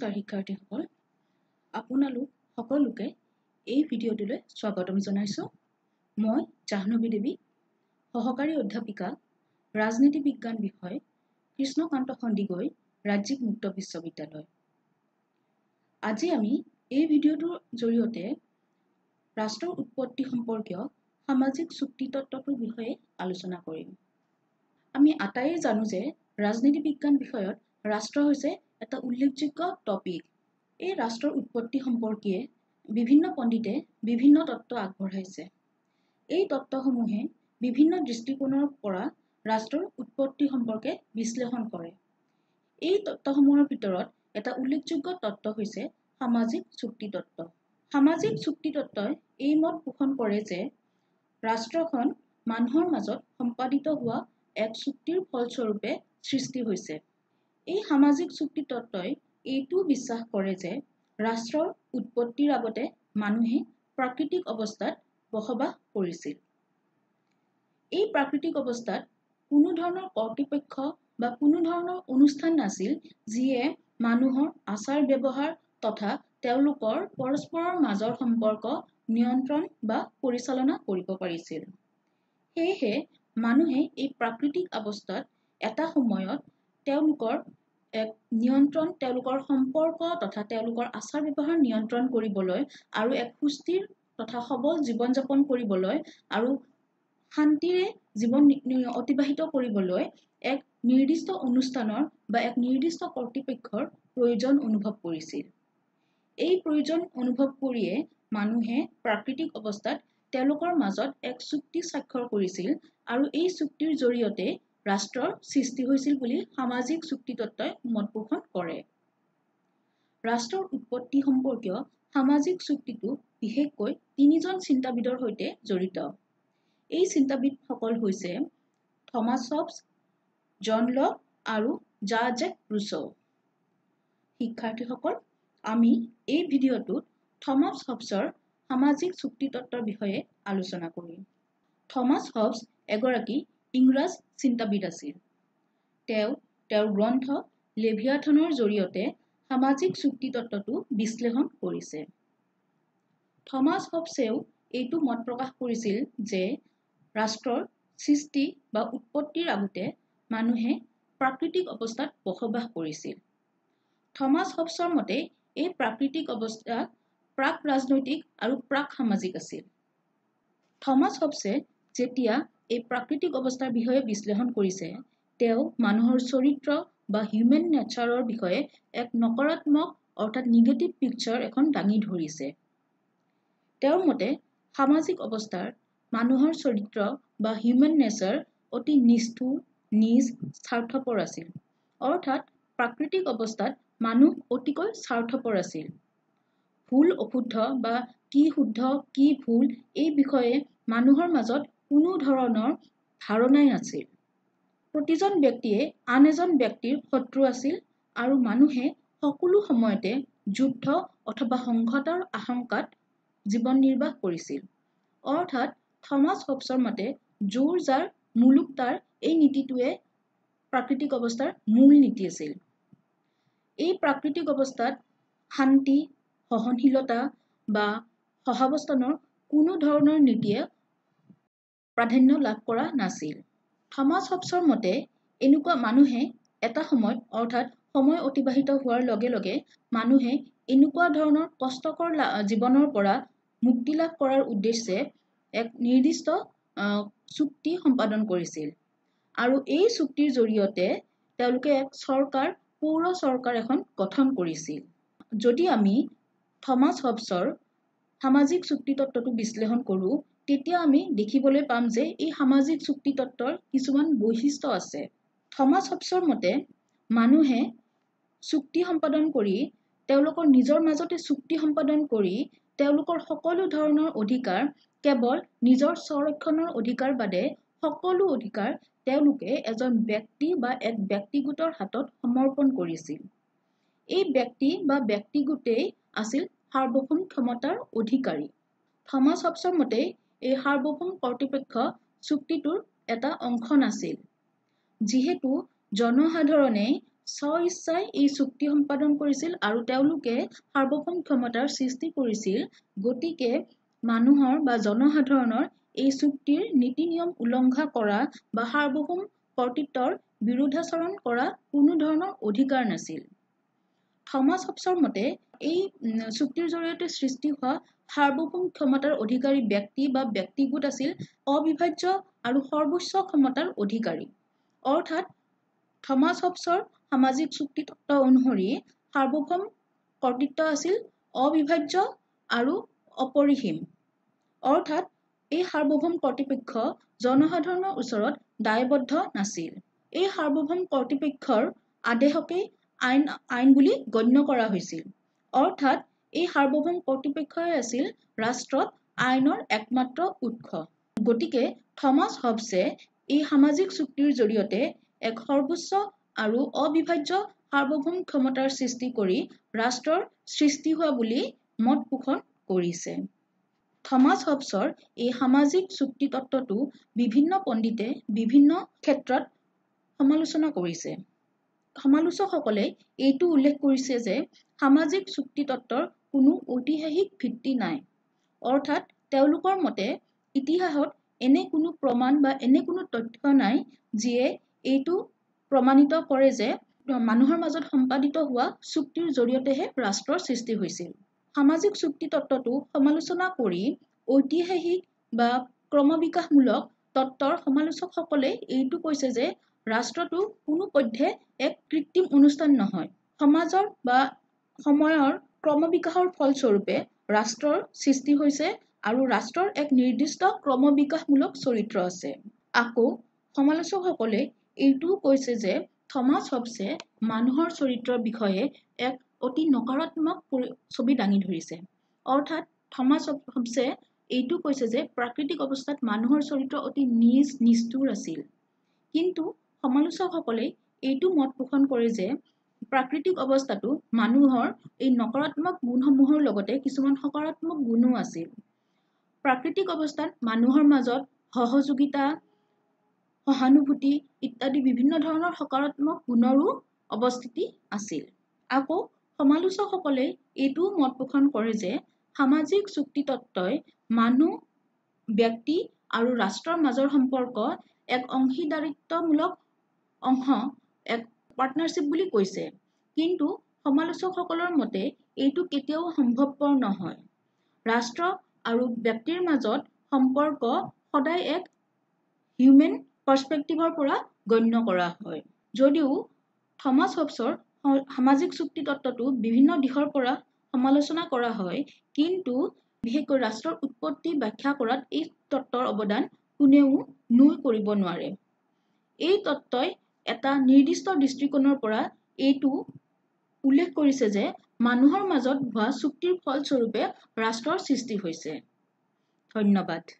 নমস্কাৰ শিক্ষাৰ্থীসকল, আপোনালোক সকলোকে এই ভিডিঅ'টোলৈ স্বাগতম জনাইছোঁ। মই জাহ্নৱী দেৱী, সহকাৰী অধ্যাপিকা, ৰাজনীতি বিজ্ঞান বিষয়, কৃষ্ণকান্ত সন্দিকৈ ৰাজ্যিক মুক্ত বিশ্ববিদ্যালয়। আজি আমি এই ভিডিঅ'টোৰ জৰিয়তে ৰাষ্ট্ৰৰ উৎপত্তি সম্পৰ্কীয় সামাজিক চুক্তি তত্ত্বটোৰ বিষয়ে আলোচনা কৰিম। আমি আটাইয়ে জানো যে ৰাজনীতি বিজ্ঞান বিষয়ত ৰাষ্ট্ৰ হৈছে এটা উল্লেখযোগ্য টপিক। এই ৰাষ্ট্ৰৰ উৎপত্তি সম্পৰ্কীয় বিভিন্ন পণ্ডিতে বিভিন্ন তত্ত্ব আগবঢ়াইছে। এই তত্ত্বসমূহে বিভিন্ন দৃষ্টিকোণৰ পৰা ৰাষ্ট্ৰৰ উৎপত্তি সম্পৰ্কে বিশ্লেষণ কৰে। এই তত্ত্বসমূহৰ ভিতৰত এটা উল্লেখযোগ্য তত্ত্ব হৈছে সামাজিক চুক্তি তত্ত্ব। সামাজিক চুক্তি তত্ত্বই এই মত পোষণ কৰে যে ৰাষ্ট্ৰখন মানুহৰ মাজত সম্পাদিত হোৱা এক চুক্তিৰ ফলস্বৰূপে সৃষ্টি হৈছে। এই সামাজিক চুক্তি তত্ত্বই এইটোও বিশ্বাস কৰে যে ৰাষ্ট্ৰৰ উৎপত্তিৰ আগতে মানুহে প্ৰাকৃতিক অৱস্থাত বসবাস কৰিছিল। এই প্ৰাকৃতিক অৱস্থাত কোনো ধৰণৰ কৰ্তৃপক্ষ বা কোনো ধৰণৰ অনুষ্ঠান নাছিল যিয়ে মানুহৰ আচাৰ ব্যৱহাৰ তথা তেওঁলোকৰ পৰস্পৰৰ মাজৰ সম্পৰ্ক নিয়ন্ত্ৰণ বা পৰিচালনা কৰিব পাৰিছিল। সেয়েহে মানুহে এই প্ৰাকৃতিক অৱস্থাত এটা সময়ত তেওঁলোকৰ এক নিয়ন্ত্ৰণ, তেওঁলোকৰ সম্পৰ্ক তথা তেওঁলোকৰ আচাৰ ব্যৱহাৰ নিয়ন্ত্ৰণ কৰিবলৈ আৰু এক সুস্থিৰ তথা সবল জীৱন যাপন কৰিবলৈ আৰু শান্তিৰে জীৱন অতিবাহিত কৰিবলৈ এক নিৰ্দিষ্ট অনুষ্ঠানৰ বা এক নিৰ্দিষ্ট কৰ্তৃপক্ষৰ প্ৰয়োজন অনুভৱ কৰিছিল। এই প্ৰয়োজন অনুভৱ কৰিয়ে মানুহে প্ৰাকৃতিক অৱস্থাত তেওঁলোকৰ মাজত এক চুক্তি স্বাক্ষৰ কৰিছিল আৰু এই চুক্তিৰ জৰিয়তে ৰাষ্ট্ৰৰ সৃষ্টি হৈছিল বুলি সামাজিক চুক্তি তত্ত্বই মত পোষণ কৰে। ৰাষ্ট্ৰৰ উৎপত্তি সম্পৰ্কীয় সামাজিক চুক্তিটো বিশেষকৈ তিনিজন চিন্তাবিদৰ সৈতে জড়িত। এই চিন্তাবিদসকল হৈছে থমাছ হবছ, জন লক আৰু জাঁ জেক ৰুছো। শিক্ষাৰ্থীসকল, আমি এই ভিডিঅ'টোত থমাছ হবছৰ সামাজিক চুক্তি তত্ত্বৰ বিষয়ে আলোচনা কৰিম। থমাছ হবছ এগৰাকী ইংৰাজ চিন্তাবিদ আছিল। তেওঁ তেওঁৰ গ্ৰন্থ লেভিয়াথনৰ জৰিয়তে সামাজিক চুক্তি তত্ত্বটো বিশ্লেষণ কৰিছে। থমাছ হবছেও এইটো মত প্ৰকাশ কৰিছিল যে ৰাষ্ট্ৰৰ সৃষ্টি বা উৎপত্তিৰ আগতে মানুহে প্ৰাকৃতিক অৱস্থাত বসবাস কৰিছিল। থমাছ হবছৰ মতে এই প্ৰাকৃতিক অৱস্থা প্ৰাক ৰাজনৈতিক আৰু প্ৰাক সামাজিক আছিল। থমাছ হবছে যেতিয়া এই প্ৰাকৃতিক অৱস্থাৰ বিষয়ে বিশ্লেষণ কৰিছে, তেওঁ মানুহৰ চৰিত্ৰ বা হিউমেন নেচাৰৰ বিষয়ে এক নকাৰাত্মক অৰ্থাৎ নিগেটিভ পিকচাৰ এখন দাঙি ধৰিছে। তেওঁৰ মতে সামাজিক অৱস্থাৰ মানুহৰ চৰিত্ৰ বা হিউমেন নেচাৰ অতি নিষ্ঠুৰ, নিজ, স্বাৰ্থপৰ আছিল। অৰ্থাৎ প্ৰাকৃতিক অৱস্থাত মানুহ অতিকৈ স্বাৰ্থপৰ আছিল। ভুল অশুদ্ধ বা কি শুদ্ধ কি ভুল এই বিষয়ে মানুহৰ মাজত কোনো ধৰণৰ ধাৰণাই নাছিল। প্ৰতিজন ব্যক্তিয়ে আন এজন ব্যক্তিৰ শত্ৰু আছিল আৰু মানুহে সকলো সময়তে যুদ্ধ অথবা সংঘাতৰ আশংকাত জীৱন নিৰ্বাহ কৰিছিল। অৰ্থাৎ থমাছ হবছৰ মতে জোৰ যাৰ মুলুক তাৰ এই নীতিটোৱে প্ৰাকৃতিক অৱস্থাৰ মূল নীতি আছিল। এই প্ৰাকৃতিক অৱস্থাত শান্তি, সহনশীলতা বা সহাৱস্থানৰ কোনো ধৰণৰ নীতিয়ে প্ৰাধান্য লাভ কৰা নাছিল। থমাছ হবছৰ মতে এনেকুৱা মানুহে এটা সময়ত অৰ্থাৎ সময় অতিবাহিত হোৱাৰ লগে লগে মানুহে এনেকুৱা ধৰণৰ কষ্টকৰ জীৱনৰ পৰা মুক্তি লাভ কৰাৰ উদ্দেশ্যে এক নিৰ্দিষ্ট চুক্তি সম্পাদন কৰিছিল আৰু এই চুক্তিৰ জৰিয়তে তেওঁলোকে এক চৰকাৰ, পৌৰ চৰকাৰ এখন গঠন কৰিছিল। যদি আমি থমাছ হবছৰ সামাজিক চুক্তি তত্ত্বটো বিশ্লেষণ কৰোঁ, তেতিয়া আমি দেখিবলৈ পাম যে এই সামাজিক চুক্তি তত্ত্বৰ কিছুমান বৈশিষ্ট্য আছে। থমাছ হবছৰ মতে মানুহে চুক্তি সম্পাদন কৰি তেওঁলোকৰ নিজৰ মাজতে চুক্তি সম্পাদন কৰি তেওঁলোকৰ সকলো ধৰণৰ অধিকাৰ কেৱল নিজৰ স্বৰক্ষণৰ অধিকাৰ বাদে সকলো অধিকাৰ তেওঁলোকে এজন ব্যক্তি বা এক ব্যক্তিগোটৰ হাতত সমৰ্পণ কৰিছিল। এই ব্যক্তি বা ব্যক্তিগোটেই আছিল সাৰ্বভৌম ক্ষমতাৰ অধিকাৰী। থমাছ হবছৰ মতে এই সাৰ্বভৌম কৰ্তৃপক্ষ চুক্তিটোৰ এটা অংশ নাছিল। যিহেতু জনসাধাৰণে স্ব ইচ্ছাই এই চুক্তি সম্পাদন কৰিছিল আৰু তেওঁলোকে সাৰ্বভৌম ক্ষমতাৰ সৃষ্টি কৰিছিল, গতিকে মানুহৰ বা জনসাধাৰণৰ এই চুক্তিৰ নীতি নিয়ম উলংঘা কৰা বা সাৰ্বভৌম কৰ্তৃত্বৰ বিৰোধাচৰণ কৰা কোনো ধৰণৰ অধিকাৰ নাছিল। থমাছ হবছৰ মতে এই চুক্তিৰ জৰিয়তে সৃষ্টি হোৱা সাৰ্বভৌম ক্ষমতাৰ অধিকাৰী ব্যক্তি বা ব্যক্তিগোট আছিল অবিভাজ্য আৰু সৰ্বোচ্চ ক্ষমতাৰ অধিকাৰী। অৰ্থাৎ থমাছ হবছৰ সামাজিক চুক্তি তত্ত্ব অনুসৰি সাৰ্বভৌম কৰ্তৃত্ব আছিল অবিভাজ্য আৰু অপৰিসীম। অৰ্থাৎ এই সাৰ্বভৌম কৰ্তৃপক্ষ জনসাধাৰণৰ ওচৰত দায়বদ্ধ নাছিল। এই সাৰ্বভৌম কৰ্তৃপক্ষৰ আদেশকেই আইন বুলি গণ্য কৰা হৈছিল। অৰ্থাৎ এই সাৰ্বভৌম কৰ্তৃপক্ষই আছিল ৰাষ্ট্ৰত আইনৰ একমাত্ৰ উৎস। গতিকে থমাছ হবছে এই সামাজিক চুক্তিৰ জৰিয়তে এক সৰ্বোচ্চ আৰু অবিভাজ্য সাৰ্বভৌম ক্ষমতাৰ সৃষ্টি কৰি ৰাষ্ট্ৰৰ সৃষ্টি হোৱা বুলি মত পোষণ কৰিছে। থমাছ হবছৰ এই সামাজিক চুক্তি তত্ত্বটো বিভিন্ন পণ্ডিতে বিভিন্ন ক্ষেত্ৰত সমালোচনা কৰিছে। সমালোচকসকলে এইটো উল্লেখ কৰিছে যে সামাজিক চুক্তি তত্ত্বৰ কোনো ঐতিহাসিক ভিত্তি নাই। অৰ্থাৎ তেওঁলোকৰ মতে ইতিহাসত এনে কোনো প্ৰমাণ বা এনে কোনো তথ্য নাই যিয়ে এইটো প্ৰমাণিত কৰে যে মানুহৰ মাজত সম্পাদিত হোৱা চুক্তিৰ জৰিয়তেহে ৰাষ্ট্ৰৰ সৃষ্টি হৈছিল। সামাজিক চুক্তি তত্ত্বটো সমালোচনা কৰি ঐতিহাসিক বা ক্ৰমবিকাশমূলক তত্ত্বৰ সমালোচকসকলে এইটো কৈছে যে ৰাষ্ট্ৰটো কোনো পধ্যে এক কৃত্ৰিম অনুষ্ঠান নহয়। সমাজৰ বা সময়ৰ ক্ৰমবিকাশৰ ফলস্বৰূপে ৰাষ্ট্ৰৰ সৃষ্টি হৈছে আৰু ৰাষ্ট্ৰৰ এক নিৰ্দিষ্ট ক্ৰমবিকাশমূলক চৰিত্ৰ আছে। আকৌ সমালোচকসকলে এইটোও কৈছে যে থমাছ হবছে মানুহৰ চৰিত্ৰৰ বিষয়ে এক অতি নকাৰাত্মক ছবি দাঙি ধৰিছে। অৰ্থাৎ থমাছ হবছে এইটো কৈছে যে প্ৰাকৃতিক অৱস্থাত মানুহৰ চৰিত্ৰ অতি নীচ নিষ্ঠুৰ আছিল। কিন্তু সমালোচকসকলে এইটো মত পোষণ কৰে যে প্ৰাকৃতিক অৱস্থাটো মানুহৰ এই নকাৰাত্মক গুণসমূহৰ লগতে কিছুমান সকাৰাত্মক গুণো আছিল। প্ৰাকৃতিক অৱস্থাত মানুহৰ মাজত সহযোগিতা, সহানুভূতি ইত্যাদি বিভিন্ন ধৰণৰ সকাৰাত্মক গুণৰো অৱস্থিতি আছিল। আকৌ সমালোচকসকলে এইটোও মত পোষণ কৰে যে সামাজিক চুক্তি তত্ত্বই মানুহ, ব্যক্তি আৰু ৰাষ্ট্ৰৰ মাজৰ সম্পৰ্ক এক অংশীদাৰিত্বমূলক অংশ, এক পাৰ্টনাৰশ্বিপ বুলি কৈছে। কিন্তু সমালোচকসকলৰ মতে এইটো কেতিয়াও সম্ভৱপৰ নহয়। ৰাষ্ট্ৰ আৰু ব্যক্তিৰ মাজত সম্পৰ্ক সদায় এক হিউমেন পাৰ্চপেক্টিভৰ পৰা গণ্য কৰা হয়। যদিও থমাছ হবছৰ সামাজিক চুক্তি তত্ত্বটো বিভিন্ন দিশৰ পৰা সমালোচনা কৰা হয়, কিন্তু বিশেষকৈ ৰাষ্ট্ৰৰ উৎপত্তি ব্যাখ্যা কৰাত এই তত্ত্বৰ অৱদান কোনেও নুই কৰিব নোৱাৰে। এই তত্ত্বই এটা নিৰ্দিষ্ট দৃষ্টিকোণৰ পৰা এইটো উল্লেখ কৰিছে যে মানুহৰ মাজত হোৱা চুক্তিৰ ফলস্বৰূপে ৰাষ্ট্ৰৰ সৃষ্টি হৈছে। ধন্যবাদ।